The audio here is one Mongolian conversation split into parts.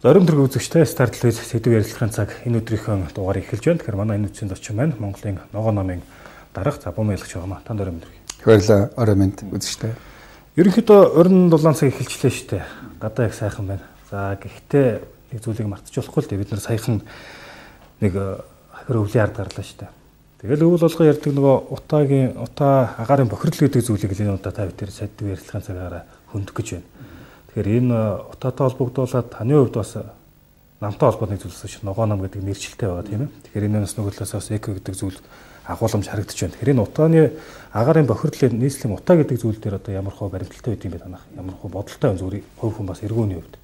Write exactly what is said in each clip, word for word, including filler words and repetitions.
Зоримт төрөг үзэгчтэй Star телевиз сэдв ярилцлагын цаг энэ өдрийнхөө дугаар эхэлж байна. Тэгэхээр манай энэ үдшийн зочин маань Монголын ногоо номын дарга Забум ялгч байгаа маа. Танд орой мэдрэг. Баярлалаа. Орой мэнд үзэгчтэй. Ерөнхийдөө оройн дулаан цаг эхэлчлээ шүү дээ. Гадаа их сайхан байна. За гэхдээ нэг зүйлийг мартчих болохгүй л дээ. Бид нар саяхан нэг хахир өвлийн ард гарлаа шүү дээ. Тэгэл өвөл болгоо ярьдаг нөгөө утаагийн утаа агаарын бохирдол гэдэг зүйлийг энэ удаа та бүхэн сэдв ярилцлагын цагаараа хөндөх гэж байна. Тэгэхээр энэ утаатай холбогдуулаад таны хувьд бас намтай холбооны зүйлс шиг ногоо нам гэдэг нэршилтэй байгаа тийм ээ. Тэгэхээр энэ нас нөгөөдлөөс бас эко гэдэг зүйл агуулмж харагдаж байна. Тэгэхээр энэ утааны агаарын бохирдлын нийслэлийн утаа гэдэг зүйл дээр одоо ямар хөө баримталтай байд юм бэ танах? Ямар хөө бодолтой байна зүгээр хувь хүн бас эргүүний хувьд.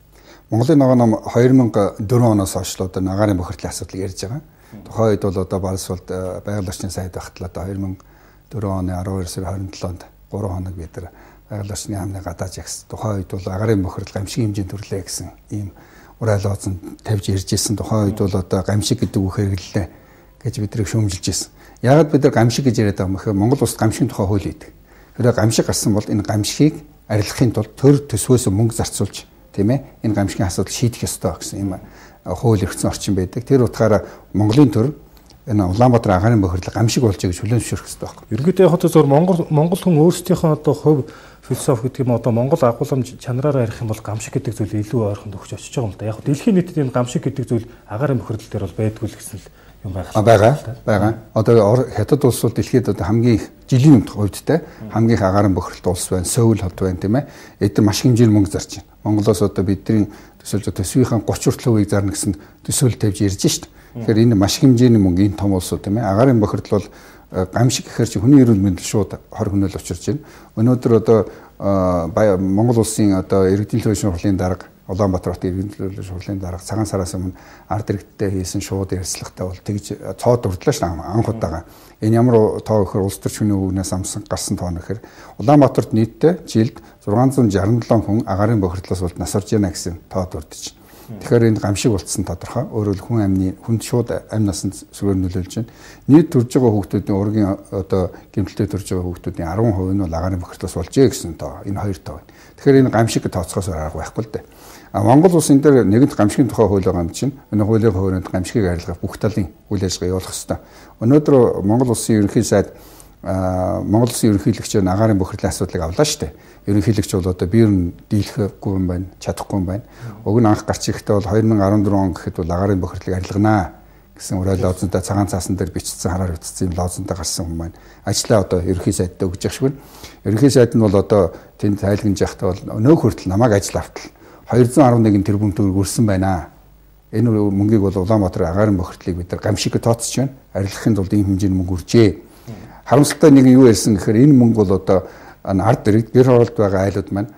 Монголын ногоо нам хоёр мянга дөрвөн оноос хойш л одоо агаарын бохирдлын асуудлыг ярьж байгаа. Тухайн үед бол одоо Барсвалд байгаль орчны сайд багтлаа одоо хоёр мянга дөрвөн оны арван хоёр сарын хорин долоонд гурван хоног бид нар байгаль орчны яамны гадаа жагс. Тухайн үед бол агаарын бохирдол гамшиг хэмжээнд төрлөө гэсэн ийм урайл ооцон тавьж ирж ирсэн. Тухайн үед бол одоо гамшиг гэдэг үг хэрэглэлээ гэж бидрийг шүүмжилж ирсэн. Яагаад бид нар гамшиг гэж яриад байгаа юм бэ? Монгол улсад гамшигын тухай хууль байдаг. Тэгэхээр гамшиг гарсан бол энэ гамшигыг арилгахын тулд төр төсвөөс мөнгө зарцуулж тийм ээ энэ гамшигын асуудал шийдэх ёстой гэсэн юм хууль эрхцэн орчин байдаг. Тэр утгаараа Монголын төр энэ Улаанбаатар агаарын бохирдол гамшиг болж байгаа гэж хүлээн зөвшөөрөх ёстой байхгүй. Ерөнхийдөө яг зөв Монгол Монгол хүн өөрсдийнхөө одоо хувь философи гэдэг юм одоо Монгол агуулмж чанараараа ярих юм бол гамшиг гэдэг зүйл илүү ойрхон төгсөж очиж байгаа юм да. Яг дэлхийн нийтэд энэ гамшиг гэдэг зүйл агаарын бохирдол дээр бол байдгүй л гэсэн л юм байна. А байгаа. Байгаа. Одоо хятад улс бол дэлхийд одоо хамгийн их жилийн хувьдтай хамгийн их агаарын бохирдол улс байна. Сөүл хот байна тийм ээ. Эдгээр маш хэмжээний мөнгө зарж байна. Монголоос одоо бидний төсөөлж төсвийн гоц хүртэл хувийг зарна гэсэн төсөөл тавьж ирж шít. Тэгэхээр энэ маш хэмжээний мөнгө энэ том улсууд тийм ээ. Агаарын бохирдол бол гамшиг гэхэр чи хүний эрүүл мэндэл шууд хор хөнөөл учирч байна. Өнөөдөр одоо Монгол улсын одоо иргэдийн төлөвшин хурлын дарга Улаанбаатар хотын иргэдийн төлөвшин хурлын дарга цагаан сараас өмнө ард иргэдтэй хийсэн шууд ярилцлагатай бол тэгж цоод урдлаа ш анх удаага. Энэ ямар тоо гэхээр улс төр шөнийн өвгнээс амсан гарсан тоо нэхэр Улаанбаатарт нийтдээ жилд зургаан зуун жарган долоо хүн агаарын бохирдлоос бол нас орж яана гэсэн тоод урдж. Тэгэхээр энэ гамшиг болцсон тодорхой. Өөрөөр хэл хүн амны хүнд шууд амь насанд сүгээр нөлөөлж байна. Нийт төрж байгаа хүүхдүүдийн ургийн одоо гэмтэлтэй төрж байгаа хүүхдүүдийн арван хувь нь бол агаарын бохирдлоос болжээ гэсэн тоо. Энэ хоёр тоо байна. Тэгэхээр энэ гамшиг тооцохоос арга байхгүй л дээ. А Монгол улсын дээр нэгэнт гамшигын тухай хууль байгаа юм чинь энэ хуулийн хуваарьд гамшигыг арилгах бүх талын үйл ажиллагаа явуулах ёстой. Өнөөдөр Монгол улсын ерөнхий сайд Монгол улсын ерөнхийлөгч агаарын бохирдлын асуудлыг авлаа шүү дээ. Ерөнхийлөгч бол одоо биер нь дийлэхгүй юм байна, чадахгүй юм байна. Уг нь анх гарч ирэхдээ бол хоёр мың арван дөрвөн он гэхэд бол агаарын бохирдлыг арилганаа гэсэн урайл лозунтай цагаан цаасан дээр бичсэн хараар утсан юм лозунтай гарсан юм байна. Ажлаа одоо ерөнхий сайдтай өгж явах шиг байна. Ерөнхий сайд нь бол одоо тэнд тайлгнаж явахдаа бол өнөө хүртэл намайг ажил автал двести eleven тэрбум төгрөг өрсөн байна. Энэ мөнгийг бол Улаанбаатар агаарын бохирдлыг бид нар гамшиг тооцож байна. Арилгахын тулд ийм хэмжээний мөнгө үржээ. Харамсалтай нэг юу ярьсан гэхээр энэ мөнгө бол одоо ард иргэд гэр хороолт байгаа айлууд маань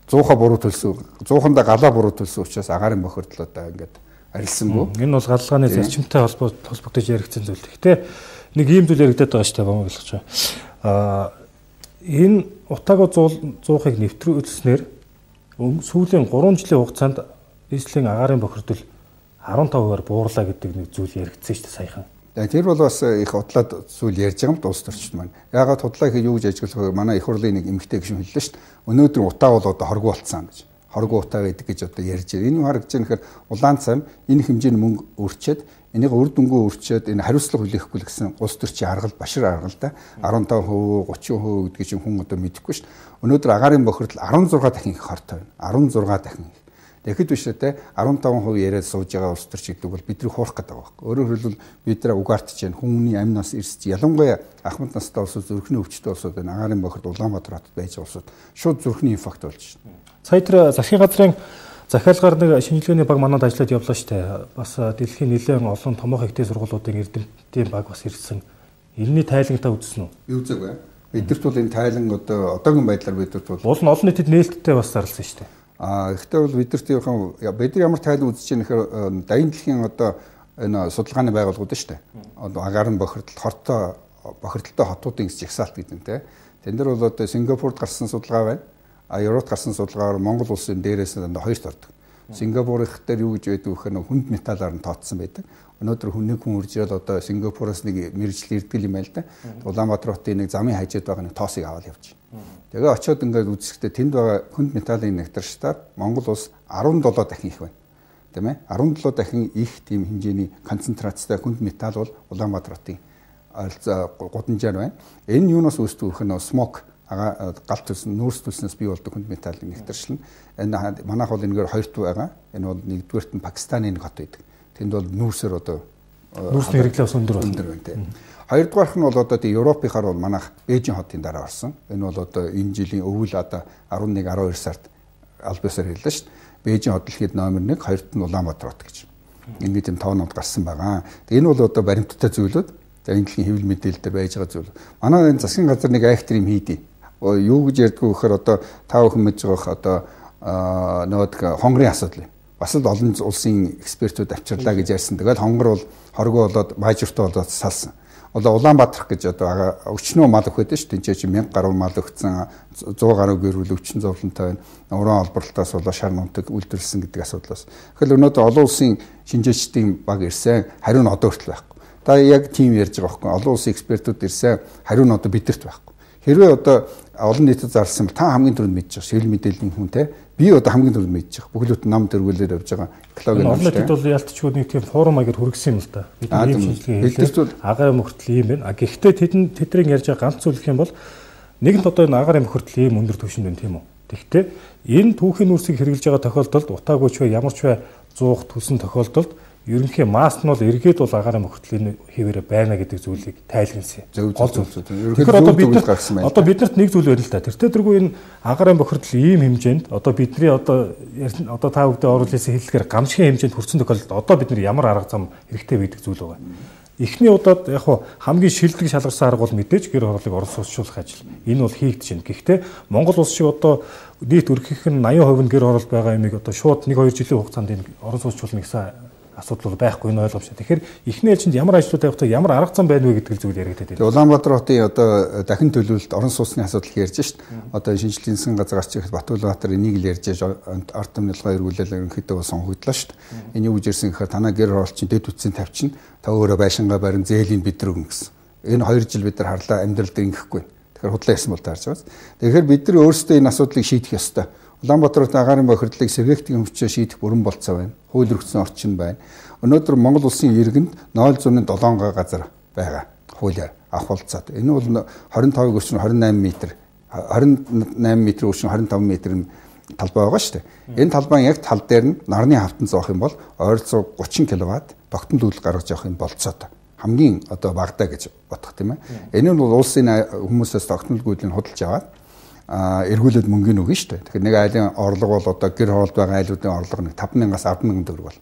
зууха буруу төлсөн, зуухандаа галаа буруу төлсөн учраас агаарын бохирдол одоо ингээд арилсангүй. Энэ бол галгааны зарчимтай холбогдож яригдсан зүйл. Гэхдээ нэг ийм зүйл яригдаад байгаа шүү дээ бом ойлгож байгаа. Аа энэ утаагаа зуухыг нэвтрүүлснээр сүүлийн гурван жилийн хугацаанд нийслэлийн агаарын бохирдол арван таван хувиар буурлаа гэдэг нэг зүйл яригдсан шүү дээ саяхан. Тэр бол бас их худлаад зүйл ярьж байгаа юм дуус төрчд маань. Яагаад худлаа гэхэд юу гэж ажиглах вэ? Манай их хурлын нэг эмэгтэй гишүүн хэллээ шүү дээ. Өнөөдөр утаа бол одоо хоргоо болцсон гэж. Хоргоо утаа гэдэг гэж одоо ярьж байна. Энэ юу харагдаж байна гэхээр улаан цам энэ хэмжээний мөнгө өрчөөд энийг үр дүнгөө өрчөөд энэ хариуцлага хүлээхгүй л гэсэн улс төрчийн аргал башир аргалтай арван таван хувь гучин хувь гэдэг чинь хүн одоо мэдэхгүй шүү дээ. Өнөөдөр агаарын бохирдол арван зургаан дахин их хортой байна. арван зургаан дахин их. Тэгэхэд биш үү арван таван хувь яриад сууж байгаа улс төрч гэдэг бол бидний хуурах гэдэг байгаа байхгүй. Өөрөөр хэлбэл бид нараа угаартж जैन хүмүүний амь нас эрсэж ялангуяа ахмад настай улсууд зүрхний өвчтөй улсууд байна. Агаарын бохирдол Улаанбаатар хотод байж байгаа улсууд шууд зүрхний инфаркт болж байна. Сая тэр засгийн газрын захиалгаар нэг шинжилгээний баг манад ажиллаад явлаа шүү дээ. Бас дэлхийн нэлээд олон томоохон ихтэй сургуулиудын эрдэмтдийн баг бас ирсэн. Энэний тайлангтаа үзсэн үү? Юу зүг вэ? Бидэрт бол энэ тайлан одоо одоогийн байдлаар бидэрт бол уул нь олон нийтэд нээлттэй бас зарласан шүү дээ. А ихтэй бол бидэртийн бид нар ямар тайлан үзэж байгаа нэхэр дайны дэлхийн одоо энэ судалгааны байгууллагууд шүү дээ. Одоо агаарын бохирдол хортой бохирдолтой хотуудын жагсаалт гэдэг нь те. Тэн дээр бол одоо Сингапурт гарсан судалгаа байна. А Европт гарсан судалгаагаар Монгол улсын дээрээс нь хоёрт ордог. Сингапурын дээр юу гэж байдаг вэ гэхээр хүнд металлаар нь тооцсон байдаг. Өнөөдөр хүний хүн үрж ирэл одоо Сингапураас нэг мэрэгжил ирдгэл юм байл та. Улаанбаатар хотын нэг замын хажууд байгаа нэг тоосыг аваад явж. Тэгээ очиод ингээд үзэхдээ тэнд байгаа хүнд металлын нэгтрштаар Монгол улс арван долоо дахин их байна. тийм ээ арван долоо дахин их тийм хэмжээний концентрацтай хүнд металл бол Улаанбаатар хотын гудамжаар байна. Энэ юунаас үүсдэг вэ? Смог галт төсөн нүүрс төснөөс бий болдог хүнд металлын нэгтэршил нь энэ манайх бол энэгээр хоёрт байгаа. Энэ бол нэгдүгээрт нь Пакистаны нэг хот байдаг. Тэнд бол нүүрсээр одоо нүүрсний хэрэглээ бас өндөр байна. Хоёрдугаарх нь бол одоо тийм Европынхаар бол манайх Бээжин хотын дараа орсон. Энэ бол одоо энэ жилийн өвөл одоо арван нэг арван хоёр сард аль биесээр хэллээ шүү дээ. Бээжин хот дэлхийд номер нэг, хоёрт нь Улаанбаатар хот гэж. Ингээд юм тоонууд гарсан байгаа. Энэ бол одоо баримттай зүйлүүд. За энэ дэлхийн хэвлэл мэдээлэлд байж байгаа зүйл. Манай энэ засгийн газар нэг айхтар юм хийдий. Юу гэж ярьдгүү гэхээр одоо та бүхэн мэдж байгаа одоо нөгөө хонгорын асуудал юм. Бас л олон улсын экспертүүд авчирлаа гэж ярьсан. Тэгэл хонгор бол хоргоо болоод баажуртай болоод салсан. Одоо Улаанбаатар гэж одоо өчнөө мал өгөх байдаг шүү. Тэнцээ чи мянга гаруй мал өгсөн, зуун гаруй гэрүүл өвчин зовлонтой байна. Уран олборлолтоос болоо шар нутаг үйлдвэрлэсэн гэдэг асуудлаас. Тэгэхээр өнөөдөр олон улсын шинжээчдийн баг ирсэн, хариу нь одоо хүртэл байхгүй. Та яг тийм ярьж байгаа байхгүй. Олон улсын экспертүүд ирсэн, хариу нь одоо бидэрт байхгүй. Хэрвээ одоо олон нийтэд зарласан бол та хамгийн түрүүнд мэдж байгаа шил мэдээллийн хүн те би одоо хамгийн түрүүнд мэдж байгаа бүхлөд нам тэргүүлээр явж байгаа экологийн олон нийтэд бол ялтчгүй нэг тийм форум аягаар хүргэсэн юм л да. Бид ийм шинжилгээ хийлээ. Агаар мөхөртөл ийм байна. А гэхдээ тэдэн тэдрийн ярьж байгаа ганц зүйл гэх юм бол нэгэнт одоо энэ агаар мөхөртөл ийм өндөр түвшинд байна тийм үү. Тэгэхдээ энэ түүхийн нүүрсийг хэрэгжилж байгаа тохиолдолд утаагүй ч бай ямар ч бай зуух төлсөн тохиолдолд ерөнхий маск нь бол эргээд бол агаарын мөхөртлийн хэвээрээ байна гэдэг зүйлийг тайлгнасан. Гол зүйл. Тэгэхээр одоо бид одоо биднэрт нэг зүйл байна л да. Тэр тэргүй энэ агаарын мөхөртөл ийм хэмжээнд одоо бидний одоо одоо та бүдэ оруулсан хэллэгээр гамшигын хэмжээнд хүрсэн тохиолдолд одоо бид нар ямар арга зам хэрэгтэй байдаг зүйл байгаа. Эхний удаад яг хуу хамгийн шилдэг шалгарсан арга бол мэдээж гэр хорооллыг Орос улсуулах ажил. Энэ бол хийгдэж байна. Гэхдээ Монгол улс шиг одоо нийт өргөх нь восемьдесят хувь нь гэр хороол байгаа юмыг одоо шууд нэг хоёр жилийн хугацаанд энэ Орос улсуулна гэсэн асуудал байхгүй энэ ойлгомжтой. Тэгэхээр эхний ээлжинд ямар ажлууд явах вэ? Ямар арга зам байна вэ гэдэг зүйл яригдаад байна. Улаанбаатар хотын одоо дахин төлөвлөлт орон сууцны асуудал ярьж шít. Одоо шинжилгээний засгийн газар гарч ирэхэд Батулбаатар энийг л ярьж ард түмнэлгээ эргүүлэл ерөнхийдөө бол сонгогдлоо шít. Энэ юу гэж ирсэн гэхээр танаа гэр хороолчин дэд үтсийн тавьчин та өөрөө байшингаа барин зээлийн бидрэг өгнө гэсэн. Энэ хоёр жил бид нар харлаа амьдралд ингэхгүй. Тэгэхээр худлаа ярьсан бол таарч байгаа. Тэгэхээр бид нар өөрсдөө энэ асуудлыг шийдэх ёстой. Улаанбаатарт агаарын бохирдлыг сэргээгтийн хөвчөө шийдэх бүрэн болцоо байна. Хууль өргөцсөн орчин байна. Өнөөдөр Монгол улсын иргэнд ноль зуун седем газар байгаа. Хуулиар авах болцоод. Энэ бол двадцать пять өршин двадцать восемь метр, двадцать восемь метр өршин двадцать пять метр талбай байгаа шүү дээ. Энэ талбайн яг тал дээр нь нарны хавтан зоох юм бол ойролцоо тридцать киловатт тогтмол үйлдэл гаргаж явах юм болцоод. Хамгийн одоо багадаа гэж бодох тийм ээ. Энэ нь бол улсын хүмүүсээс тогтмол үйлдэлийг худалдаж аваад эргүүлээд мөнгөний өгнө шүү дээ. Тэгэхээр нэг айлын орлого бол одоо гэр хороолд байгаа айлуудын орлого нэг five мянгаас ten мянган төгрөг бол.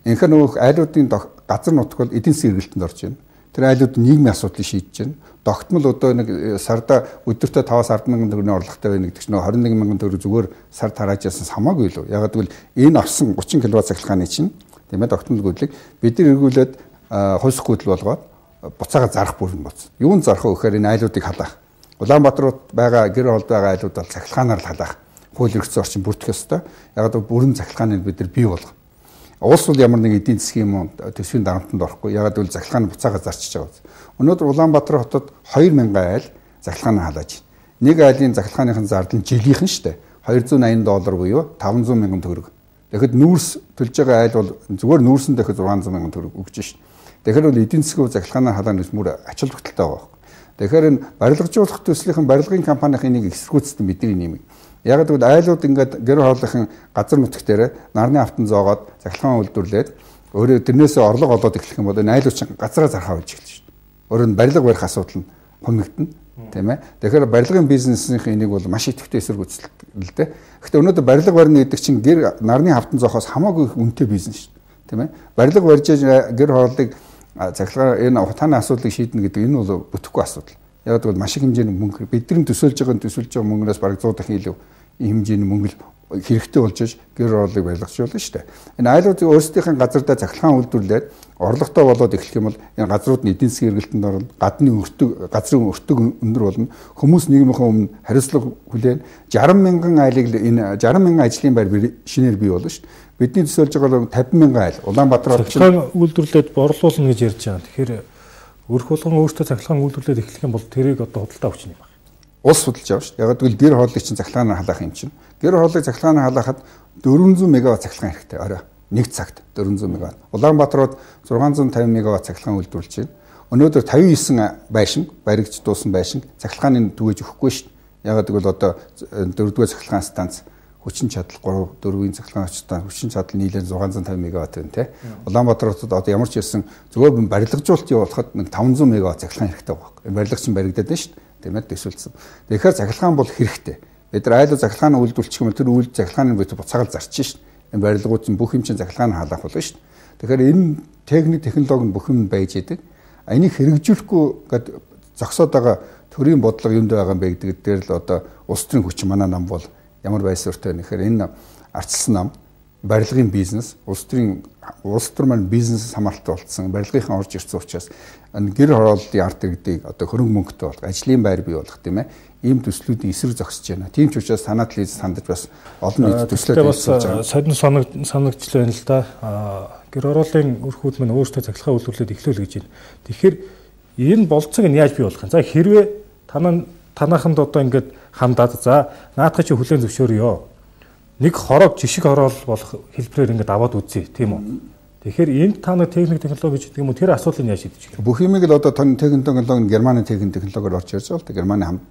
Энэхээр нөгөө айлуудын газар нутг бол эдийн засгийн эргэлтэнд орж байна. Тэр айлууд нийгмийн асуудлыг шийдэж байна. Тогтмол одоо нэг сарда өдөртөө five-аас ten мянган төгрөгийн орлоготой байна гэдэг чинь twenty one мянган төгрөг зүгээр сард харааж ясанс хамаагүй л үү. Ягаад гэвэл энэ авсан thirty киловатт цахилгааны чинь тийм ээ тогтмол гүйдлийг бид нар эргүүлээд хойсох гүйдэл болгоод буцаага зарах бүрэн боц. Юунд зарах вэ гэхээр энэ айлуудыг халаах. Улаанбаатарт байгаа гэр хоолд байгаа айлууд бол цахилгаанаар л халаах. Хууль эрхцэн орчин бүрдэх ёстой. Яг л бүрэн цахилгааныг бид нар бий болгох. Улс бол ямар нэг эдийн засгийн юм төсвийн дарамтанд орохгүй. Яг л цахилгааны буцаага зарчиж байгаа. Өнөөдөр Улаанбаатар хотод two thousand айл цахилгаанаа халааж байна. Нэг айлын цахилгааныхын зардал нь жилийнхэн шүү дээ. two hundred eighty доллар буюу five hundred мянган төгрөг. Тэгэхэд нүүрс төлж байгаа айл бол зүгээр нүүрсэн дахид six hundred мянган төгрөг өгч шүү. Тэгэхээр бол эдийн засгийн цахилгаанаа халааны мөр ачаал тогтолтой байгаа. Тэгэхээр энэ барилгажуулах төслийнхэн барилгын компанийн энийг эсэргүүцсэн бидний нэмэг. Яг л айлууд ингээд гэр хоолойхон газар нутг дээр нарны автан зоогоод цахилгаан үйлдвэрлээд өөрөө тэрнээсээ орлого олоод эхлэх юм бол энэ айлууд чинь газараа зархаа болж эхэлж шүү дээ. Өөрөө нь барилга барих асуудал нь хумигдана, тийм ээ. Тэгэхээр барилгын бизнесийн энийг бол маш идэвхтэй эсэргүүцэлтэй. Гэхдээ өнөөдөр барилга барина гэдэг чинь гэр нарны автан зоохоос хамаагүй их үнэтэй бизнес шүү дээ, тийм ээ. Барилга барьж гэр хоолойг цахилгаан энэ утааны асуудлыг шийднэ гэдэг энэ бол бүтэхгүй асуудал. Яг бол маш их хэмжээний мөнгө бидний төсөөлж байгаа төсөөлж байгаа мөнгнөөс бараг one hundred дахин илүү хэмжээний мөнгө хэрэгтэй болж иж гэр хорооллыг байлгачулна шүү дээ. Энэ айлуудын өөрсдийнхээ газардаа цахилгаан үйлдвэрлээд орлоготой болоод эхлэх юм бол энэ газрууд нь эдийн засгийн эргэлтэнд орно, гадны өртөг газрын өртөг өндөр болно. Хүмүүс нийгмийнхээ өмнө хариуцлага хүлээн sixty мянган айлыг энэ sixty мянган ажлын байр шинээр бий болно шүү дээ. Бидний төсөөлж байгаа fifty мянган айл Улаанбаатар хотод цахилгаан үйлдвэрлээд борлуулна гэж ярьж байгаа. Тэгэхээр өрх болгон өөртөө цахилгаан үйлдвэрлээд эхлэх юм бол тэрийг одоо худалдаа авч юм байна. Улс худалдаж авах шүү. Яг гэвэл гэр хооллыг чинь цахилгаанаар халаах юм чинь. Гэр хооллыг цахилгаанаар халаахад four hundred мегаватт цахилгаан хэрэгтэй орой. нэг цагт дөрвөн зуун мегаватт. Улаанбаатар руу зургаан зуун тавин мегаватт цахилгаан үйлдвэрлэж байна. Өнөөдөр тавин девять байшин баригдж дуусан байшин цахилгааны түгэж өгөхгүй шүү дээ. Ягаад гэвэл одоо дөрөвдүгээр цахилгаан станц хүчин чадал гурав дөрвийн цахилгаан станц хүчин чадал нийлээд зургаан зуун тавин мегаватт байна тий. Улаанбаатарт одоо ямар ч ирсэн зөвхөн барилгажуулалт явуулахад нэг таван зуун мегаватт цахилгаан хэрэгтэй байхгүй. Барилгач нь баригдаад байна шүү дээ. Тийм ээ төсөлсөн. Тэгэхээр цахилгаан бол хэрэгтэй. Бид нар айлуу цахилгаан үйлдвэрлэх юм бол тэр үйл цахилгааны бид буцаагаар зарчих шүү дээ. Энэ барилгууд нь бүх юм чинь цахилгаан халаах болно шүү дээ. Тэгэхээр энэ техник технологи нь бүх юм байж идэг. Энийг хэрэгжүүлэхгүй гэд зогсоод байгаа төрийн бодлого юунд байгаа юм бэ гэдэг дээр л одоо улс төрийн хүч манай нам бол ямар байсуртай вэ гэхээр энэ ардчилсан нам барилгын бизнес улс төрийн улс төр маань бизнес хамааралтай болцсон барилгынхаа орж ирсэн учраас гэр хорооллын ард иргэдийг одоо хөрөнгө мөнгөтэй болох ажлын байр бий болгох тийм ээ ийм төслүүдийн эсрэг зогсож байна. Тийм ч учраас санаад лиз сандаж бас олон нийт төслүүд бас содон санаг санагдж байна л да. Гэр хорооллын өрхүүд маань өөрсдөө цахилгаан үйлдвэрлээд эхлүүл гэж байна. Тэгэхээр энэ болцоог нь яаж бий болох юм? За хэрвээ танаа танааханд одоо ингээд хандаад за наадах чи хүлэн зөвшөөрөё. Нэг хорог жишг хороол болох хэлбэрээр ингээд аваад үзье тийм үү. Тэгэхээр энд та нэг техник технологи гэдэг юм уу тэр асуудлыг яаж шийдэж байна? Бүх юмыг л одоо техник технологи Германы техник технологиор орж ирж байгаа л да. Германы хамт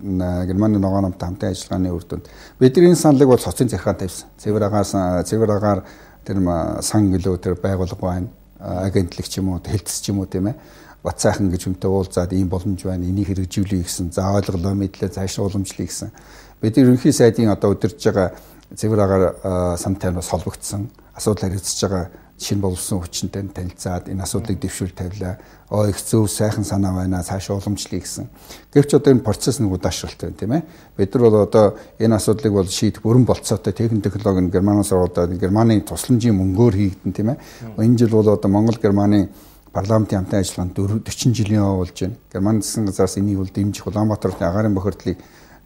Германы ногоон хамт хамтын ажиллагааны үр дүнд бидний саналыг бол цоцын захиргаан тавьсан. Цэвэр агаас цэвэр агаар тэр сан гэлөө тэр байгуулга байна. Агентлаг ч юм уу хэлтс ч юм уу тийм ээ. Бат сайхан гэж хүнтэй уулзаад ийм боломж байна. Энийг хэрэгжүүлэе гэсэн. За ойлголоо мэдлээ цааш уламжлая гэсэн. Бид ерөнхий сайдын одоо удирдах байгаа цэвэр агаар сантай бас холбогдсон. Асуудал харилцаж байгаа шинэ болсон хүчинтэй танилцаад энэ асуудлыг дэвшүүл тавилаа. Оо их зөв сайхан санаа байна. Цааш уламжлая гэсэн. Гэвч одоо энэ процесс нэг удаашралтай байна тийм ээ. Бид нар бол одоо энэ асуудлыг бол шийдэх бүрэн болцоотой техник технологи нь Германаас ороод Германы тусламжийн мөнгөөр хийгдэн тийм ээ. Энэ жил бол одоо Монгол Германы парламентын хамтын ажиллагаанд дөрвөн жилийн явуулж байна. Германы засгийн газраас энийг бол дэмжих Улаанбаатарын агаарын бохирдлыг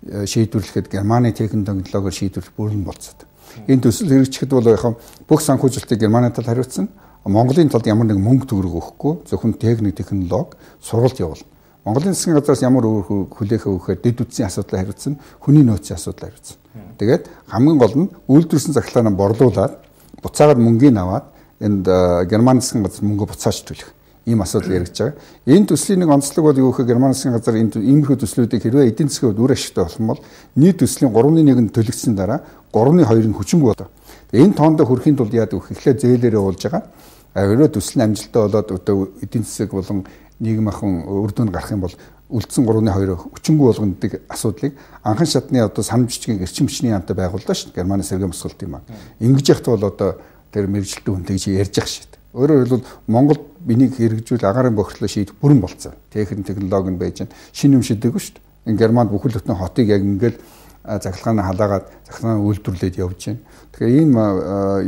шийдвэрлэхэд Германы техник технологиор шийдвэрлэх бүрэн болцоод. Энэ төсөл хэрэгжихэд бол яг бүх санхүүжилтийг Германы тал хариуцсан. Монголын талд ямар нэг мөнгө төгрөг өгөхгүй зөвхөн техник технологи сургалт явуулна. Монголын засгийн газраас ямар өөр хүлээхээ өгөхээр дэд үтсийн асуудлыг хариуцсан, хүний нөөцийн асуудлыг хариуцсан. Тэгээд хамгийн гол нь үйлдвэрсэн захлагаа борлуулад буцаагаад мөнгөний аваад энд Германы засгийн газар мөнгө буцааж төлөх ийм асуудал яригдж байгаа. Энэ төслийн нэг онцлог бол юу гэхээр Германы засгийн газар энэ иймэрхүү төслүүдийг хэрвээ эдийн засгийн үр ашигтай болох юм бол нийт төслийн гуравны нэг нь төлөгдсөн дараа гуравны хоёр нь хүчингүй болоо. Энэ тоондоо хүрэхийн тулд яадаг вэ? Эхлээд зээлээрээ уулж байгаа. Хэрвээ төсөл нь амжилттай болоод одоо эдийн засаг болон нийгэм ахын үр дүн гарах юм бол үлдсэн гуравны хоёр хүчингүй болгонодаг асуудлыг анхан шатны одоо санамж бичгийн эрчим хүчний яамтай байгууллаа шүү дээ. Германы сэргээн босголтын банк. Ингэж яхад бол одоо тэр мэрэгжилтэн хүнтэй гэж ярьж ах шít. Өөрөөр хэлбэл Монгол энийг хэрэгжүүл агаарын бохирдлоо шийдэх бүрэн болцсон. Техник технологи нь байж байна. Шинэ юм шийдэггүй шүү дээ. Энэ Германд бүхэл бүтэн хотыг яг ингээд захилгааны халаагаад захилгааны үйлдвэрлээд явж байна. Тэгэхээр ийм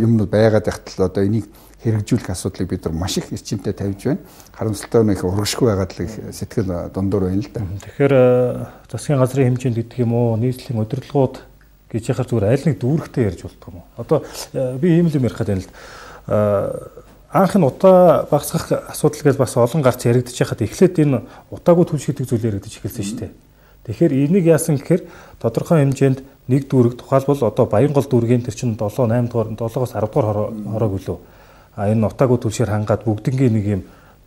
юмнууд байгаад байхтал одоо энийг хэрэгжүүлэх асуудлыг бид нар маш их эрчимтэй тавьж байна. Харамсалтай нь их урагшгүй байгаад л их сэтгэл дундуур байна л да. Тэгэхээр засгийн газрын хэмжээнд гэдэг юм уу, нийслэлийн удирдлагууд гэж яхаар зүгээр аль нэг дүүрэгтэй ярьж болдгоо юм уу? Одоо би ийм л юм ярих гэдэг юм л анх нь утаа багасгах асуудал гэж бас олон гарч яригдчих хахад эхлээд энэ утаагүй түлш гэдэг зүйл яригдчих эхэлсэн шүү дээ. Тэгэхээр энийг яасан гэхээр тодорхой хэмжээнд нэг дүүрэг тухайлбал одоо Баянгол дүүргийн тэр чинь долоо наймд дугаар долоогоос арав дугаар хороог үлээ. А энэ утаагүй түлшээр хангаад бүгднгийн нэг юм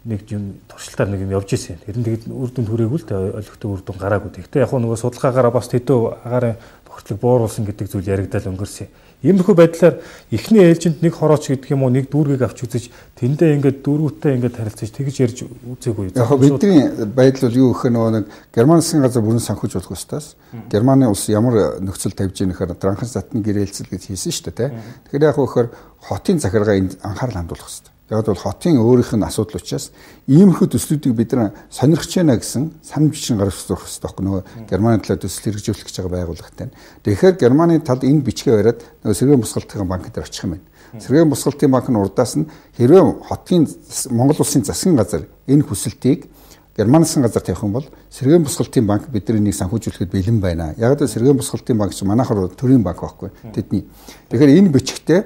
нэг юм туршилтаар нэг юм явж ирсэн. Тэр нь тэгээд үр дүнд хүрээгүй л дээ олигтой үр дүн гараагүй. Гэхдээ яг нөгөө судалгаагаараа бас тэдөө агаарын бохирдлыг бууруулсан гэдэг зүйл яригдал өнгөрсөн. Иймэрхүү байдлаар эхний ээлжинд нэг хорооч гэдэг юм уу нэг дүүргийг авч үзэж тэндээ ингээд дүүргүүтээ ингээд харилцаж тэгж ярьж үзээгүй. Яг бидний байдал бол юу гэхээр нөгөө нэг Герман засгийн газар бүрэн санхүүж болох ёстойс. Германы улс ямар нөхцөл тавьж ийм гэхээр транхын затны гэрээлцэл гэж хийсэн шүү дээ. Тэгэхээр яг гэхээр хотын захиргаа энд анхаарал хандуулах хэрэгтэй. Яг бол хотын өөрийнх нь асуудал учраас иймэрхүү төслүүдийг бид нар сонирхож байна гэсэн санамж бичин гаргаж зурх хэрэгтэй байхгүй нөгөө Германы талаар төсөл хэрэгжүүлэх гэж байгаа байгууллагатай. Тэгэхээр Германы талд энэ бичгээ бариад нөгөө сэргээн босголтын банк дээр очих юм байна. Сэргээн босголтын банк нь урдаас нь хэрвээ хотын Монгол улсын засгийн газар энэ хүсэлтийг Германы засгийн газар тавих юм бол сэргээн босголтын банк бидний санхүүжүүлэхэд бэлэн байна. Яг л сэргээн босголтын банк чинь манайхаар төрийн банк байхгүй тэдний. Тэгэхээр энэ бичгтээ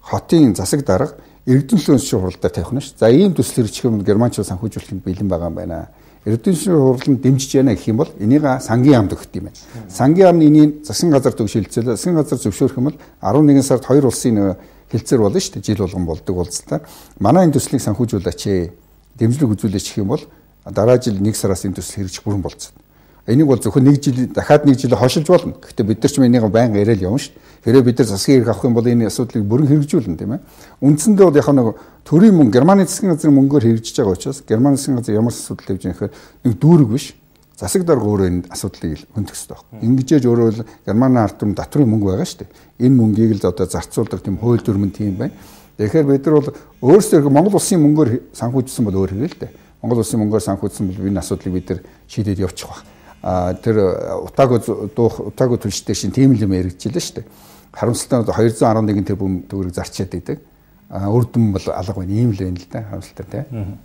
хотын засаг дарга Эрдэнэ шүүхийн хуралдаар тавих нь ш. За ийм төсөл хэрэгжих юм Германчууд санхүүжүүлэхэд бэлэн байгаа юм байна. Эрдэнэ шүүхийн хурал нь дэмжиж байна гэх юм бол энийг сангийн яамд өгөх юм байна. Сангийн яам нь энийг засгийн газар төгшөлцөөлөө. Засгийн газар зөвшөөрөх юм бол арван нэгэн сард хоёр улсын хилцээр болно шүү дээ. Жил болгон болдог уулзалтаар. Манай энэ төслийг санхүүжүүлээч ээ. Дэмжлэг үзүүлээч гэх юм бол дараа жил нэг сараас энэ төсөл хэрэгжих бүрэн болцсон. Энийг бол зөвхөн нэг жил дахиад нэг жил хошилж болно. Гэхдээ бид нар ч энийг байнга яриад явна шүү дээ. Хэрвээ бид нар засгийн хэрэг авах юм бол энэ асуудлыг бүрэн хэрэгжүүлнэ тийм ээ. Үндсэндээ бол яг нэг төрийн мөнгө Германы засгийн газрын мөнгөөр хэрэгжиж байгаа учраас Германы засгийн газар ямар асуудал тавьж байгаа гэхээр нэг дүүрэг биш. Засаг дарга өөрөө энэ асуудлыг хөндөх хэрэгтэй байна. Ингэжээж өөрөө л Германы ард түмэн татврын мөнгө байгаа шүү дээ. Энэ мөнгийг л одоо зарцуулдаг тийм хууль дүрмэн тийм байна. Тэгэхээр бид нар бол өөрсдөө Монгол улсын мөнгөөр санхүүжсэн бол өөр хэрэг л дээ. Монгол улсын мөнгөөр санхүүжсэн бол энэ асуудлыг бид нар шийдээд явчих واخ. А тэр утаагүй дуух утаагүй түлштэй шин тийм л юм яригдчихлээ шүү дээ. Харамсалтай нь двести арван нэг тэрбум төгрөг зарчаад идэг. А үр дүн бол алга байна. Ийм л байна л да. Харамсалтай тийм.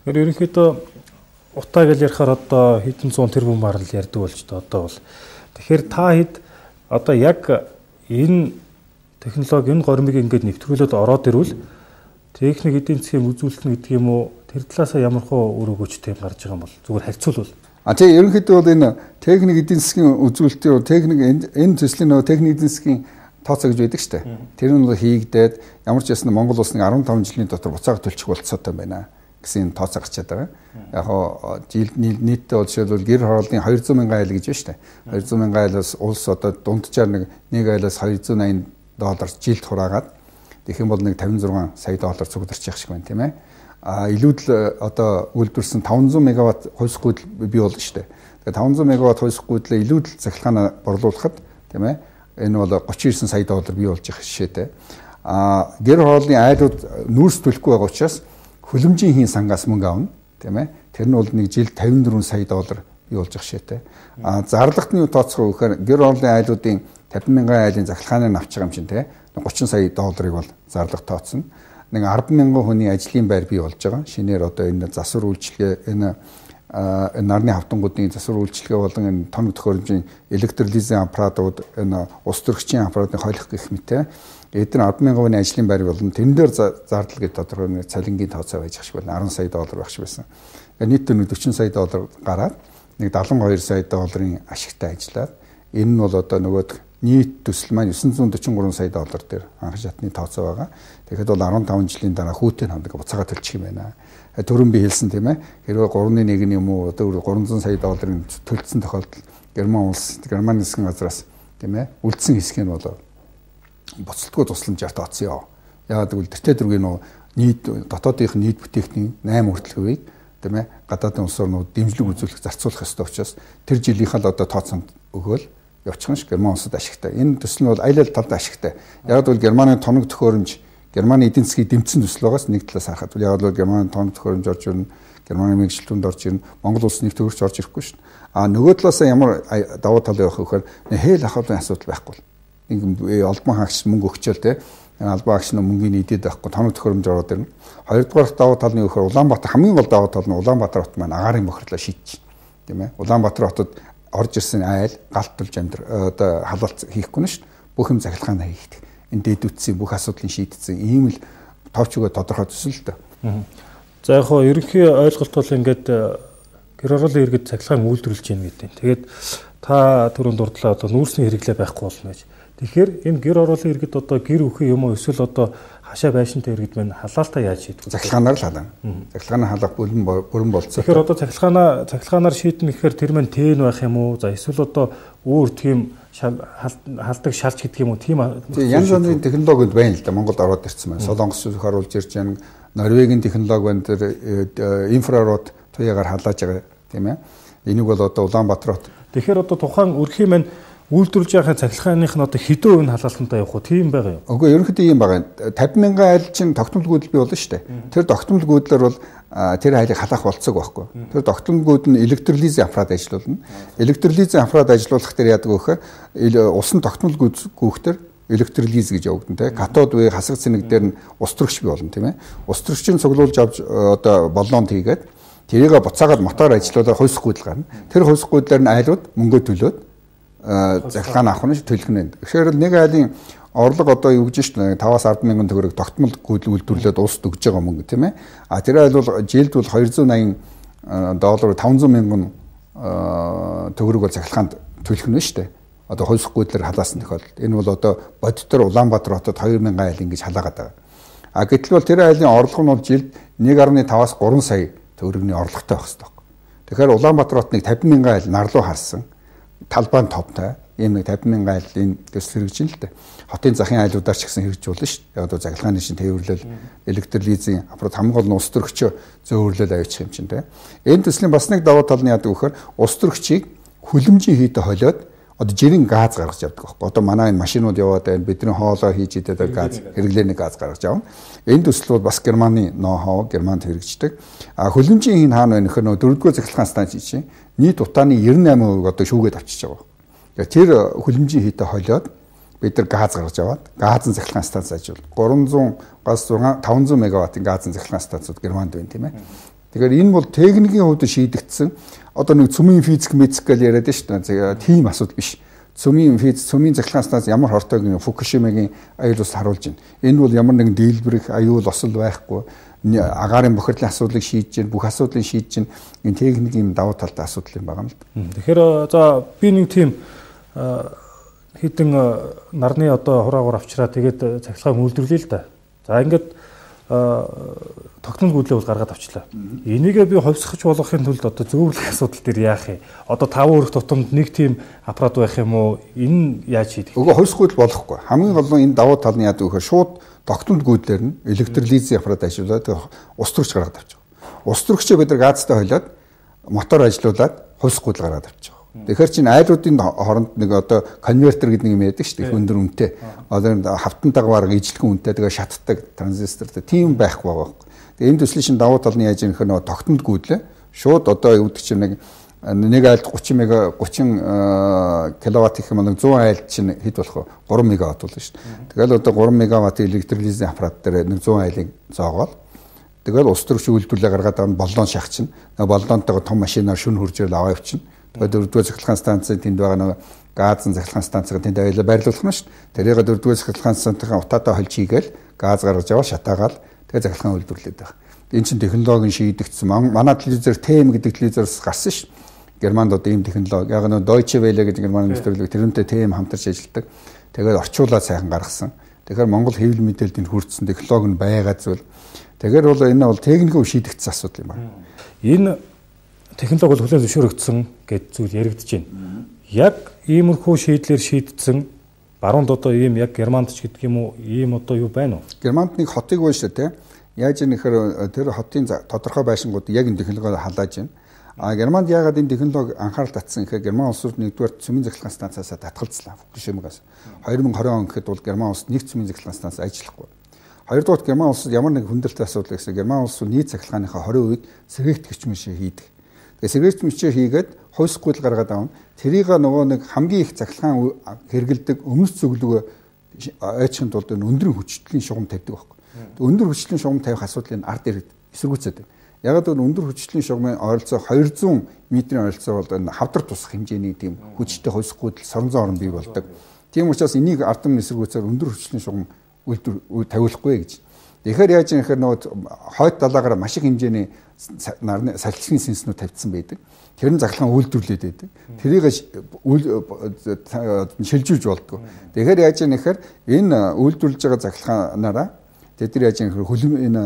Тэгэхээр ерөнхийдөө утаа гэж ярихаар одоо хэдэн зуун тэрбум барал ярьдаг болж та одоо бол. Тэгэхээр та хэд одоо яг энэ технологи энэ гормыг ингээд нэвтрүүлээд ороод ирвэл техник эдийн засгийн үзүүлэлт гэдэг юм уу тэр талаасаа ямар хөө үр өгөөч тийм гарч байгаа юм бол зүгээр харьцуулбал. А тийм ерөнхийдөө бол энэ техник эдийн засгийн үзүүлэлтийн техник энэ төслийн нөгөө техник эдийн засгийн тооцоо гэж байдаг шүү дээ. Тэр нь бол хийгдээд ямар ч ясна Монгол улс нэг арван таван жилийн дотор буцаага төлчих болцоотой байна гэсэн тооцоо гарчаад байгаа. Яг хоо жил нийтдээ бол жишээлбэл гэр хорооллын двести мянган айл гэж байна шүү дээ. двести мянган айлаас улс одоо дунджаар нэг нэг айлаас двести восемьдесят доллар жилд хураагаад тэгэх юм бол нэг тавин зургаан сая доллар цугдарч явах шиг байна тийм ээ. А илүүдл одоо үйлдвэрсэн таванзуун мегаватт хувьсах гүйдэл бий болно шүү дээ. Тэгээ таванзуун мегаватт хувьсах гүйдлээ илүүдл захилгаанаа борлуулахад тийм ээ энэ бол тридцать девять сая доллар бий болж их жишээтэй. А гэр хорооллын айлууд нүүрс төлөхгүй байгаа учраас хөлөмжийн хийн сангаас мөнгө авна тийм ээ. Тэр нь бол нэг жил тавин дөрвөн сая доллар бий болж их жишээтэй. А зарлагт нь юу тооцох вэ гэхээр гэр хорооллын айлуудын тавин мянган айлын захилгааныг авч байгаа юм чинь тийм тридцать сая долларыг бол зарлага тооцно. Нэг арван мянган хүний ажлын байр бий болж байгаа. Шинээр одоо энэ засвар үйлчилгээ энэ нарны хавтангуудын засвар үйлчилгээ болон энэ тоног төхөөрөмжийн электролизийн аппаратууд энэ ус төрөгчийн аппаратын хойлох гэх мэт эдгээр арван мянган хүний ажлын байр болон тэн дээр зардал гэж тодорхой нэг цалингийн тооцоо байж ах шиг байна. арван сая доллар байх шиг байсан. Нийтдээ нэг сорок сая доллар гараад нэг седемдесет и два сая долларын ашигтай ажиллаад энэ нь бол одоо нөгөө нийт төсөл маань девятьсот сорок три сая доллар дээр анх шатны тооцоо байгаа. Тэгэхэд бол арван таван жилийн дараа хүүтэй хамдаг буцаага төлчих юм байна. Төрөн би хэлсэн тийм ээ. Хэрвээ гурван нэг нь юм уу одоо гурамзан сая долларын төлцсөн тохиолдолд Герман улс, Германы засгийн газраас тийм ээ үлдсэн хэсэг нь бол боцолтгүй тусламжаар тооцсон. Яагаад гэвэл тэртээ дөрвийн нөө нийт дотоодынх нийт бүтээгдэхүүн восемь хүртэлхүйг тийм ээ гадаадын улсаар нөө дэмжлэг үзүүлэх зарцуулах ёстой учраас тэр жилийнхаа л одоо тооцоонд өгөөл явчихна ш Герман улсад ашигтай. Энэ төсөл нь бол аялал талд ашигтай. Яг бол Германы тоног төхөөрөмж, Германы эдийн засгийн дэмцсэн төсөл байгаас нэг талаас харахад бол яг бол Германы тоног төхөөрөмж орж ирнэ, Германы мэргэжилтүнд орж ирнэ, Монгол улс нэг төгөрч орж ирэхгүй ш. А нөгөө талаас ямар давуу тал явах вэ гэхээр хээл ахуулын асуудал байхгүй. Нэг албан хаагч мөнгө өгчөөл те албан хаагч нь мөнгөний идэд байхгүй тоног төхөөрөмж ороод ирнэ. Хоёрдугаар давуу тал нь юу гэхээр Улаанбаатар хамгийн гол давуу тал нь Улаанбаатар хот маань агаарын бохирлоо шийдчих. Тийм ээ. Улаанбаатар хотод орж ирсэн айл галтулж амьдр одоо халуулт хийхгүй нь шүү дээ. Бүх юм захилгаанаа хийдэг. Энэ дэдүтсийн бүх асуудлыг шийдсэн ийм л товч өгөө тодорхой төсөл л дээ. За яг хоо ерөнхий ойлголт бол ингээд гэр хорооллын иргэд захилгаан үйлдвэрлэж байна гэдэг. Тэгээд та түрүүнд дурдлаа одоо нүүрсний хэрэглээ байхгүй болно гэж. Тэгэхээр энэ гэр хорооллын иргэд одоо гэр бүхэн юм уу эсвэл одоо хашаа байшинтай иргэд мань халаалтаа яаж шийдэх вэ? Захилгаанаар л халаана. Захилгаанаа халах бүрэн бүрэн болцсон. Тэгэхээр одоо захилгаанаа захилгаанаар шийднэ гэхээр тэр мань тэн байх юм уу? За эсвэл одоо өөр тийм халдаг шалж гэдэг юм уу? Тийм янз бүрийн технологиуд байна л да. Монголд ороод ирсэн байна. Солонгос зүг харуулж ирж байна. Норвегийн технологи байна. Тэр инфрарод туяагаар халааж байгаа тийм ээ. Энийг бол одоо Улаанбаатар хот. Тэгэхээр одоо тухайн өрхийн мань үйлдвэрлэж байгаа цахилгааных нь одоо хэдэн хувь нь халаалтантай явах уу? Тийм байгаа юу? Үгүй ерөнхийдөө ийм байгаа. тавин мянган айл чинь тогтмол гүйдэл бий болно шүү дээ. Тэр тогтмол гүйдлэр бол тэр айлыг халаах болцоог байхгүй. Тэр тогтмол гүйд нь электролизийн аппарат ажиллуулна. Электролизийн аппарат ажиллуулах дээр яадаг вэ гэхээр усан тогтмол гүйд гүйхтэр электролиз гэж явагдана те. Катод вэ хасах цэнэг дээр нь ус төрөгч бий болно тийм ээ. Ус төрөгчийн цуглуулж авч одоо боллоонд хийгээд тэрийг буцаагаад мотор ажиллуулаад хувьсах гүйдэл гарна. Тэр хувьсах гүйдлэр нь айлууд мөнгө төлөөд захилгаан авах нь төлөх нь. Тэгэхээр нэг айлын орлого одоо юу гэж шүү дээ таваас арван мянган төгрөг тогтмол гүйдэл үйлдвэрлээд улсад өгж байгаа мөнгө тийм ээ. А тэр айл бол жилд бол двести восемьдесят доллар тавинзуун мянган төгрөг бол захилгаанд төлөх нь шүү дээ. одоо хувьсгүйдлэр халаасан тохиолдол. Энэ бол одоо бодитор Улаанбаатар хотод хоёр мянган айл ингэж халаагаад байгаа. А гэтэл бол тэр айлын орлого нь бол жилд нэг дасам пять-аас гурван сая төгрөгийн орлоготой байх хэрэгтэй. Тэгэхээр Улаанбаатар хотныг тавин мянган айл нар руу харсан. Талбайн товтой ийм нэг тавин мянган айлын төсөл хэрэгжин л дээ. Хотын захын айлуудаар ч гэсэн хэрэгжүүлнэ шүү дээ. Одоо захиргааны шин тээвэрлэл, электролизийн аппарат хамгийн гол нь ус төрөгчөө зөөвөрлөл авчих юм чинь те. Энэ төслийн бас нэг давуу тал нь яадаг вэхээр ус төрөгчийг хүлэмжийн хийдэ холиод одоо жирийн газ гаргаж явдаг байхгүй. Одоо манай энэ машинууд яваад байна. Бидний хоолоо хийж идэх газ, хэрэглээний газ гаргаж явна. Энэ төсөл бол бас Германы ноу-хау, Германд хэрэгждэг. А хүлэмжийн хин хаана байна гэхээр дөрөвдүгээр захиргааны станцын чинь нийт утааны девяносто восемь одоо шүүгээд авчиж байгаа. Тэгэхээр тэр хүлэмжийн хийдэ холиод бид нар газ гаргаж аваад газын захиргааны станц ажил гурамзугаас таван зуун мегаваттын газын захиргааны станцууд Германд байна тийм ээ. Тэгэхээр энэ бол техникийн хувьд шийдэгдсэн одоо нэг цөмийн физик медик гэж яриад шүү дээ. Тийм асуудал биш. Цөмийн физ цөмийн захиргааны станц ямар хортойг Фукушимагийн аюул ус харуулж байна. Энэ бол ямар нэгэн дийлбэрэх аюул осол байхгүй агаарын бохирдлын асуудлыг шийдэж гин бүх асуудлыг шийдэж гин энэ техникийн давуу талтай асуудал юм байгаа юм л да. Тэгэхээр за би нэг тийм хэдэн нарны одоо хураагаар авчраа тэгээд цахилгаан үйлдвэрлэе л да. За ингээд тогтмол гүйдлээ бол гаргаад авчлаа. Энийгээ би ховсгож болгохын тулд одоо зөвлөх асуудал дээр яах юм? Одоо таван өрх тутамд нэг тийм аппарат байх юм уу? Энэ яаж шийдэх вэ? Уг ховсгуйл болохгүй. Хамгийн гол нь энэ давуу тал нь яадаг вэ гэхээр шууд тогтмол гүйдлэр нь электролизийн аппарат ажиллуулад ус төрөгч гаргаад авчих. Ус төрөгчөө бид нар газтай холиод мотор ажиллуулад ховсгуйл гаргаад авчих. Тэгэхээр чинь айлуудын хооронд нэг одоо конвертер гэдэг юм яадаг шүү дээ. Өндөр үнэтэй. Одоо хавтантайгаа бараг ижлэгэн үнэтэй тэгээ шатдаг транзистортэй тийм байхгүй байгаа. Тэгээ энэ төслийн шин давуу тал нь яаж юм хэ нөгөө тогтмол гүйдлээ. Шууд одоо юу гэдэг чинь нэг нэг айлд тридцать мега тридцать киловатт гэх юм нэг сто айлд чинь хэд болох вэ? три мегаватт болно шүү дээ. Тэгэл одоо три мегаватт электролизийн аппарат дээр нэг сто айлыг зоогоод тэгэл ус төрөгч үйлдвэрлэлээ гаргаад аван боллон шахачин. Боллонтойгоо том машинаар шүн хуржил аваа явчихна. Дөрөвдүгээр захиргааны станцын тэнд байгаа нэг газын захиргааны станцыг тэнд аваад байрлуулах нь шүү дээ. Тэрийг дөрөвдүгээр захиргааны станцын утаатай холж хийгээл газ гаргаж аваад шатаагаал тэгээ захиргааны үйлдвэрлээд байгаа. Энэ чинь технологийн шийдэгдсэн. Манай телевизээр ТЭМ гэдэг телевизоос гарсан шүү. Германд одоо ийм технологи яг нэг Deutsche Welle гэдэг герман нэвтрүүлэг тэрнтэй ТЭМ хамтарч ажилладаг. Тэгээд орчуулаад сайхан гаргасан. Тэгэхээр Монгол хэвлэл мэдээлэлд энэ хүртсэн технологи нь байгаа зүйл. Тэгэхээр бол энэ бол техникийн шийдэгдсэн асуудал юм байна. Энэ технологи бол хүлээн зөвшөөрөгдсөн гэж зүйл яригдж байна. Яг иймэрхүү шийдлэр шийдсэн баруунд одоо ийм яг Германд ч гэдэг юм уу ийм одоо юу байна уу? Германд нэг хотыг байна шүү дээ. Яаж юм нэхэр тэр хотын тодорхой байшингууд яг энэ технологиор халааж байна. А Германд яагаад энэ технологи анхаарал татсан гэхээр Герман улс руу нэгдүгээр цөмийн захиргааны станцаас татгалзлаа. Фукушимагаас. две тысячи двадцать он гэхэд бол Герман улс нэг цөмийн захиргааны станц ажиллахгүй. Хоёрдугаар Герман улсад ямар нэг хүндрэлтэй асуудал гэсэн Герман улс нийт захиргааныхаа тwenty үед сэргээгт гिचмэшээ хийдэг. Тэгээ сэргээгт гिचмэшээ хийгээд хувьсгуйл гаргаад авна. Тэрийг нөгөө нэг хамгийн их захиргаан хэрэгэлдэг өмнөс зөвлөгөө айчхын тулд өндөр хүчтэй шугам тавьдаг байхгүй. Өндөр хүчтэй шугам тавих асуудлыг ард ирээд эсэргүүцээд байна. Яг л өндөр хүчтэй шугамын ойролцоо two hundred метрийн ойролцоо бол энэ хавдар тусах хэмжээний тийм хүчтэй хувьсгуйл соронзон орн бий болдог. Тийм учраас энийг ард өмнө эсэргүүцээр өндөр хүчтэй шугам үйлдвэр тавиулахгүй гэж. Тэгэхээр яаж юм гэхээр нөгөө хойд далаагаар маш их хэмжээний нарны салхины сэнснүүд тавьдсан байдаг. Тэр нь захиргаан үйлдвэрлээд байдаг. Тэрийг шилжүүлж болдгоо. Тэгэхээр яаж юм гэхээр энэ үйлдвэрлэж байгаа захиргаанаараа тэд нар яаж юм гэхээр хөлөм энэ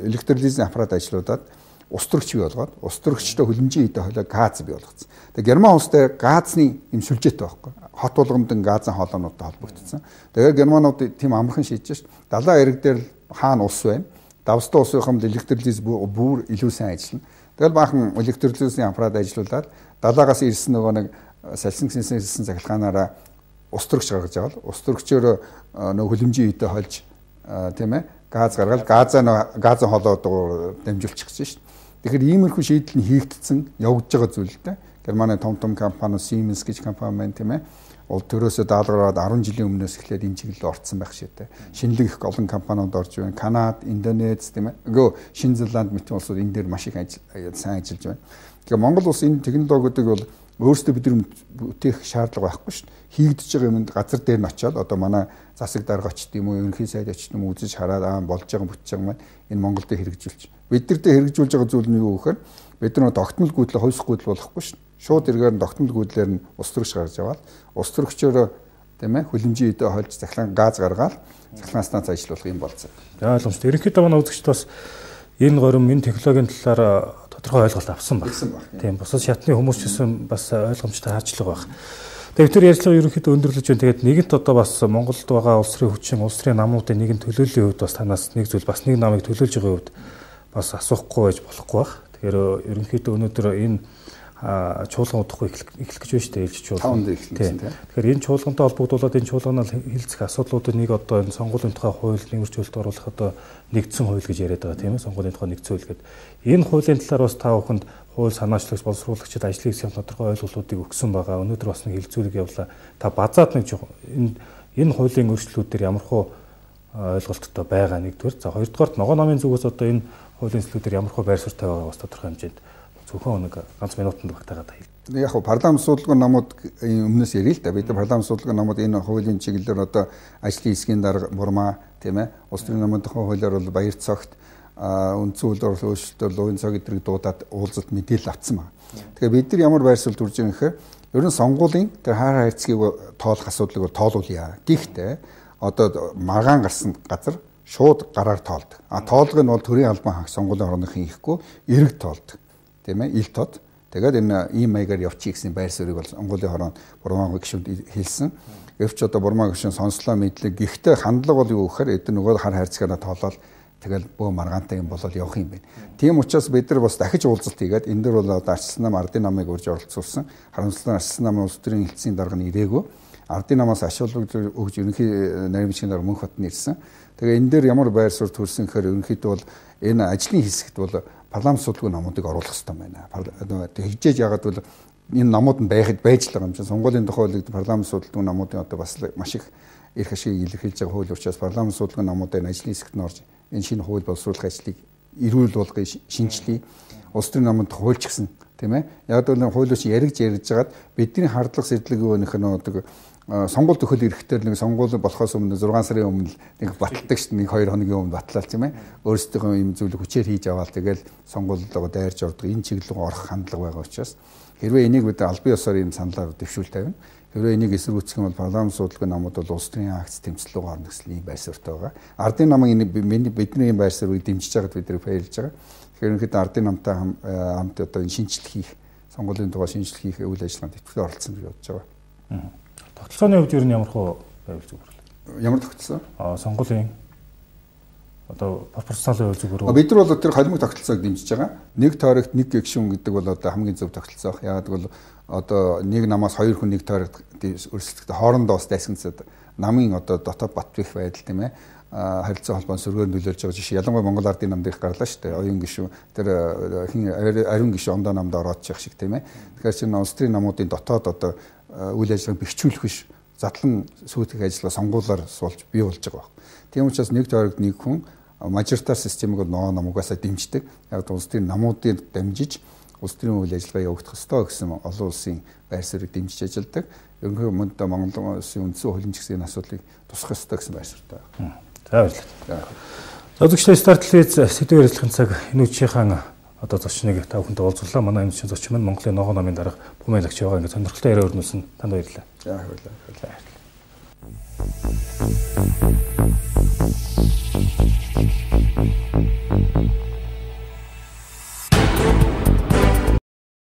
электролизийн аппарат ажиллуудаад ус төрөгч бий болгоод ус төрөгчтэй хөлөмжийн хийдэ хойлоо газ бий болгоцсон. Тэгээ Герман улстай газны юм сүлжээтэй байхгүй. Хот болгонд газын хоолойнуудтай холбогдсон. Тэгэхээр Германууд тийм амархан шийдэж ш. Далайн эрэг дээр хаана ус байна? Давстай усын хамт электролиз бүр илүү сайн ажиллана. Тэгэл баахан электролизийн аппарат ажиллуулад далаагаас ирсэн нөгөө нэг салсан гисэн ирсэн захиргаанаараа ус төрөгч гаргаж аваад ус төрөгчөөр нөгөө хөлөмжийн хийдэ хольж тийм ээ газ гаргаад газаа газын хоолойдоор дамжуулчих гэсэн ш. Тэгэхээр иймэрхүү шийдэл нь хийгдсэн явж байгаа зүйл л дээ. Германы том том компани Siemens гэж компани байна тийм ээ. Ол төрөөсөө даалгараад ten жилийн өмнөөс эхлээд энэ чиглэлд орцсон байх шийдэ. Шинэлэг их олон компаниуд орж байна. Канада, Индонез тийм ээ. Гөө Шинэ Зеланд мэтийн улсууд энэ дээр маш их сайн ажиллаж байна. Тэгэхээр Монгол улс энэ технологиудыг бол өөрсдөө бид нар бүтээх шаардлага байхгүй шүү дээ. Хийгдэж байгаа юмд газар дээр нь очиод одоо манай засаг дарга очт юм уу, ерөнхий сайд очт юм уу үзэж хараад аа болж байгаа бүтэж байгаа маань энэ Монголд хэрэгжүүлж. Бид нар дээр хэрэгжүүлж байгаа зүйл нь юу гэхээр бид нар тогтмол гүйдлээ хойсох гүйдэл болохгүй шүү дээ. Шууд эргээр нь тогтмол гүйдлэр нь ус төрөгч гарч аваад ус төрөгчөөр тийм ээ хүлэмжийн өдөө хольж цахилгаан газ гаргаад цахилгаан станц ажиллуулах юм болцсон. За ойлгомжтой. Ерөнхийдөө манай үзэгчд бас энэ горим энэ технологийн талаар тодорхой ойлголт авсан байна. Тийм бусад шатны хүмүүс ч гэсэн бас ойлгомжтой хаачлага байна. Тэгээд тэр ярилцлага ерөнхийдөө өндөрлөж байна. Тэгээд нэгэнт одоо бас Монголд байгаа улс төрийн хүчин, улс төрийн намуудын нэгэн төлөөллийн хувьд бас танаас нэг зүйл бас нэг намыг төлөөлж байгаа хувьд бас асуухгүй байж болохгүй байх. Тэгэхээр ерөнхийдөө өнөөдөр энэ чуулган удахгүй эхлэх гэж байна шүү дээ, ээлж чуулган. Тэгэхээр энэ чуулгантай холбогдуулаад энэ чуулганаар хилцэх асуудлуудыг нэг одоо энэ сонгуулийн тухай хууль нэмэрчүүлэлт оруулах одоо нэгдсэн хууль гэж яриад байгаа тийм ээ, сонгуулийн тухай нэгдсэн хууль гэдэг. Энэ хуулийн талаар бас та бүхэнд хууль санаачлагч, боловсруулагчид ажлын хэсгийн тодорхой ойлголтуудыг өгсөн байгаа. Өнөөдөр бас нэг хэлцүүлэг явуулаа. Та базаад нэг энэ энэ хуулийн өөрчлөлтүүдээр ямархуу ойлголттой байгаа нэгдүгээр. За хоёрдугаарт ногоо намын зүгээс одоо энэ хуулийн зүйлүүдээр ямархуу байр суурьтай байгаа бас тодорхой хэмжээнд зөвхөн нэг ганц минутанд багтаагаад байна. Яг хуу парламент судалгаа намууд өмнөөс ярил л да. Бид парламент судалгаа намууд энэ хуулийн чиглэлээр одоо ажлын хэсгийн дарга бурмаа тийм ээ. Улс төрийн намын тухай хуулиар бол баяр цогт үндсэн хууль өөрчлөлтөөр луйн цаг эдрийг дуудаад уулзалт мэдээлэл авсан байна. Тэгэхээр бид нар ямар байр суурь дүрж байгаа гэхээр ер нь сонгуулийн тэр хаар хайрцгийг тоолох асуудлыг тоолуулъя. Гэхдээ одоо маргаан гарсан газар шууд гараар тоолдог. А тоолгыг нь бол төрийн албан хаагч сонгуулийн орныхын хийхгүй эрэг тоолдог. Тийм ээ, ил тод. Тэгээд энэ ийм маягаар явчих гэсэн байр суурийг бол Монголын хорон бурмаа гишүүнд хэлсэн. Гэвч одоо бурмаа гишүүн сонслоо мэдлэг. Гэхдээ хандлага бол юу гэхээр эдгээр нөгөө хар хайрцагаараа тоолоод тэгэл бөө маргаантай юм болоод явах юм байна. Тийм учраас бид нар бас дахиж уулзалт хийгээд энэ дөр бол одоо арчилсан нам ардын намыг урьж оролцуулсан. Харамсалтай арчилсан намын улс төрийн хэлтсийн дарга нь ирээгүй. Ардын намаас ашиглаж өгж ерөнхий нарийн дарга Мөнх хотод ирсэн. Тэгээ энэ дээр ямар байр суурь төрсөн гэхээр ерөнхийдөө бол энэ ажлын хэсэгт бол парламент судалгаа намуудыг оруулах хэрэгтэй байна. Тэгжээж яагаад бол энэ намууд нь байхад байж л байгаа юм чинь сонгуулийн тухай хуулийг парламент судалгаа намуудын одоо бас маш их эрх ашиг илэрхийлж байгаа хууль учраас парламент судалгаа намуудын ажлын хэсэгт нь орж энэ шинэ хууль боловсруулах ажлыг эрүүл болгоё, шинжилье. Улс төрийн намд хуульч гисэн тийм ээ. Яг бол хуулиуч яригж ярьж байгаад бидний хардлага сэтлэг өөнийх нь одоо сонгуул төхөл эрэхтэй нэг сонгуул болохоос өмнө зургаан сарын өмнө нэг баталдаг шүү дээ, нэг хоёр хоногийн өмнө батлал тийм ээ. Өөрсдийнхөө юм зүйлийг хүчээр хийж аваад тэгэл сонгуулиудаа дайрж ордог энэ чиглэл орох хандлага байгаа учраас хэрвээ энийг бид албан ёсоор юм саналаар дэвшүүл тавина. Хэрвээ энийг эсэргүүцэх юм бол парламент судалгаа намууд бол улс төрийн акц тэмцэл рүү орно гэсэн ийм байр суурьтай байгаа. Ардын намын энэ бидний ийм байр суурийг дэмжиж байгаад бид нэр баярлж байгаа. Тэгэхээр ерөнхийдөө ардын намтай хамт одоо энэ шинжилт хийх, сонгуулийн тухай шинжилт хийх үйл ажиллагаанд идэвхтэй оролцсон гэж бодож байгаа. Тогтолцооны хувьд ер нь ямар хөө байвал зүгээр вэ? Ямар тогтолцоо? Аа сонгуулийн одоо пропорционалын зүгээр. Бид нар бол тэр холимог тогтолцоог дэмжиж байгаа. Нэг тойрогт нэг гишүүн гэдэг бол одоо хамгийн зөв тогтолцоо. Яг бол одоо нэг намаас хоёр хүн нэг тойрогт өрсөлдөхөд хоорондоо бас дайсагнцад намын одоо дотоод бат бих байдал тийм ээ. Харилцаа холбоон сөргөөр нөлөөлж байгаа жишээ. Ялангуяа Монгол ардын намд их гарлаа шүү дээ. Оюун гишүүн тэр хин ариун гишүүн ондоо намд ороод чих шиг тийм ээ. Тэгэхээр чинь улс төрийн намуудын дотоод одоо үйл ажиллагааг бэхжүүлэх биш задлан сүйтгэх ажиллагаа сонгуулаар суулж бий болж байгаа байна. Тийм учраас нэг тойрогт нэг хүн мажоритар системийг ноо намуугаасаа дэмждэг. Яг улс төрийн намуудыг дамжиж улс төрийн үйл ажиллагаа явагдах ёстой гэсэн олон улсын байр суурийг дэмжиж ажилладаг. Ерөнхийдөө мөндөд Монгол улсын үндсэн хөлимж гэсэн энэ асуудлыг тусгах ёстой гэсэн байр суурьтай байна. За баярлалаа. За үзэгчдээ Star телевиз сэдвээр ярилцлагын цаг энэ үеийнхэн одоо зочныг та бүхэнд уулзлаа. Манай энэ зочин маань Монголын ногоо намын дарга Бумын лагч байгаа. Ингээд сонирхолтой яриа өрнүүлсэн. Танд баярлалаа. За баярлалаа. We'll be right back.